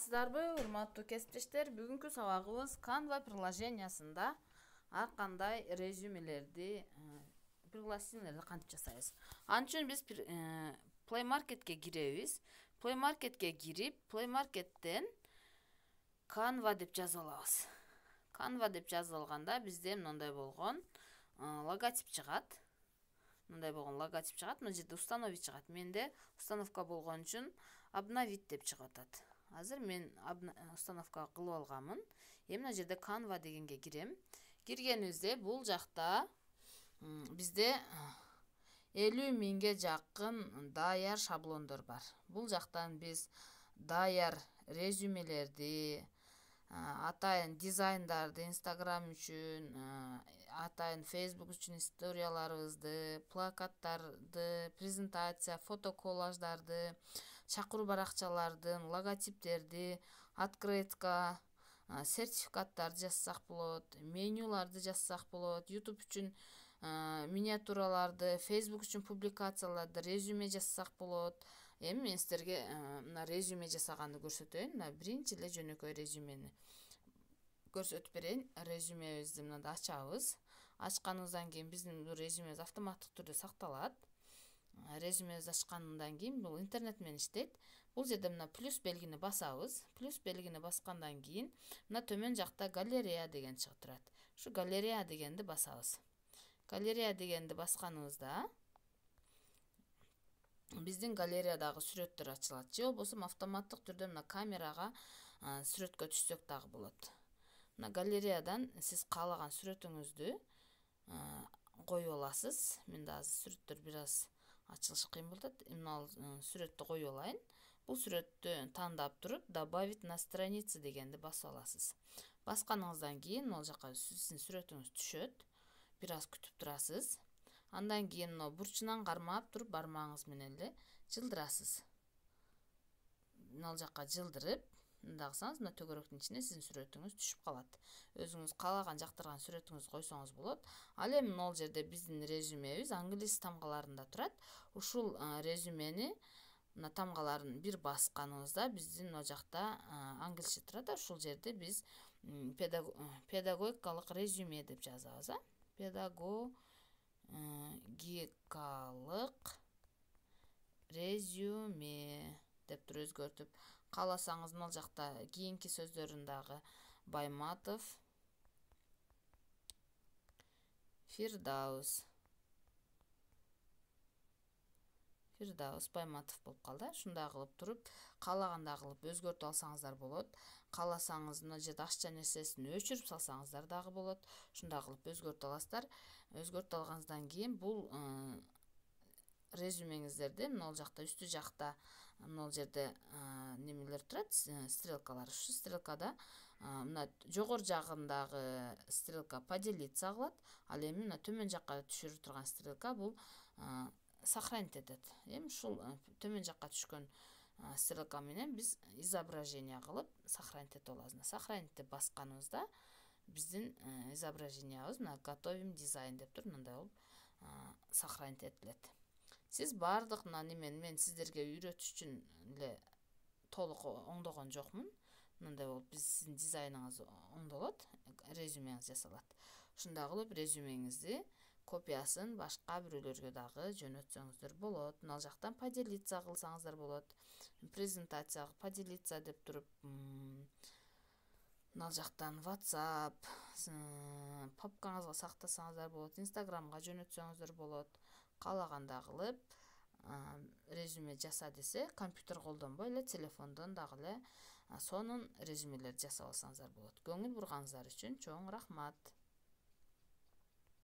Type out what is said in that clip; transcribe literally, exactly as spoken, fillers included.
Саламатсыздарбы, урматтуу кесиптештер? Бүгүнкү сабагыбыз Canva приложениясында ар кандай резюмелерди, пригласительныйлерди кантип жасайбыз. Ал үчүн биз Play Marketке киребиз. Play Marketке кирип, Play Market'тен Canva деп жазып алабыз. Canva деп жазып алганда бизде мындай болгон логотип чыгат. Мындай болгон логотип чыгат. Мына жерде установить чыгат. Менде установка болгон үчүн обновить деп чыгып атат. Азыр мен установка кылып алганмын. Эми мына жерде Canva дегенге кирем. Киргенибизде бул жакта бизде элүү миңге жакын даяр шаблондор бар. Бул жактан биз даяр резюмелерди, атайын дизайндарды Instagram үчүн, атайын Facebook үчүн историяларыбызды, плакаттарды, презентация, фото коллаждарды, чакыруу баракчалардын логотиптерди, открытка, сертификаттарды жазсак болот, менюларды жазсак болот, YouTube үчүн миниатюраларды, Facebook үчүн публикацияларды, резюме жазсак болот. Эми мен сиздерге мына резюме жасаганды көрсөтөйүн. Мына биринчи эле жөнөкөй резюмени көрсөтүп берейин. Резюмебизди мында ачабыз. Ачканыбыздан кийин биздин бул резюмебиз автоматтык түрдө сакталат. Резюмебизди ачкандан кийин бул интернет менен иштейт. Бул жерде мына плюс белгини басабыз. Плюс белгини баскандан кийин мына төмөн жакта галерея деген чыгып турат. Ушу галерея дегенди басабыз. Галерея дегенди басканыбызда биздин галереядагы сүрөттөр ачылат. Же болбосо автоматтык түрдө мына камерага сүрөткө түшсөк дагы болот. Мына галереядан сиз каалаган сүрөтүңүздү коюп аласыз. Менде азыр сүрөттөр бир аз ачылышы кыйын болуп атат. Мына сүрөттү коюп алайын. Бул сүрөттү тандап туруп добавить на страницу дегенди басып аласыз. Басканыңыздан кийин могул жака сиздин сүрөтүңүз түшөт. Бир аз күтүп турасыз. Андан кийин мына бурчунан кармап туруп бармагыңыз менен эле жылдырасыз. Могул жака жылдырып, мындай кылсаңыз мына төгөрөктүн ичине сиздин сүрөтүңүз түшүп калат. Өзүңүз каалаган жактырган сүрөтүңүздү койсоңуз болот. Ал эми могул жерде биздин резюмебиз англис тамгаларында турат. Ушул резюмени мына тамгаларын бир басканыбызда биздин могул жакта англисче турат. Ушул жерде биз педагогикалык резюме деп жазабыз. Педагогикалык резюме деп туруп өзгөртүп, кааласаңыз могул жакта кийинки сөздөрүн дагы Байматов, Фирдаус Фирдаус Байматов болуп калды. Ушундай кылып туруп, каалагандай кылып өзгөртүп алсаңыздар болот. Кааласаңыз мына жерде ашча нерсесин өчүрүп салсаңыздар дагы болот. Ушундай кылып өзгөртүп аласыздар. Өзгөртүп алганыңыздан кийин бул резюмеңиздерди могул жакта үстү жакта могул жерде немелер турат, стрелкалар. Ушу стрелкада мына жогору жагындагы стрелка поделиться кылат. Ал эми мына төмөн жакка түшүрүп турган стрелка бул сохранить этет. Эми ушул төмөн жакка түшкөн стрелка менен биз изображение кылып сохранить этип алабыз. Сохранить деп басканыбызда биздин изображениябыз мына готовим дизайн деп туруп мындай болуп сохранить этилет. Сиз баардык мына немени мен сиздерге үйрөтүш үчүн эле толук оңдогон жокмун. Мындай болуп биз сиздин дизайныңыз оңдолот, резюмеңиз жасалат. Ушундай кылып резюмеңизди копиясын башка бирөөлөргө дагы жөнөтсөңүздөр болот. Мына жактан поделиться кылсаңыздар болот. Презентация поделиться деп туруп мына жактан WhatsApp, папкаңызга сактасаңыздар болот, Instagramга жөнөтсөңүздөр болот. Каалагандай кылып резюме жаса десе, компьютер колдонбой эле телефондон дагы эле сонун резюмелерди жасап алсаңыздар болот. Көңүл бурганыңыздар үчүн чоң рахмат.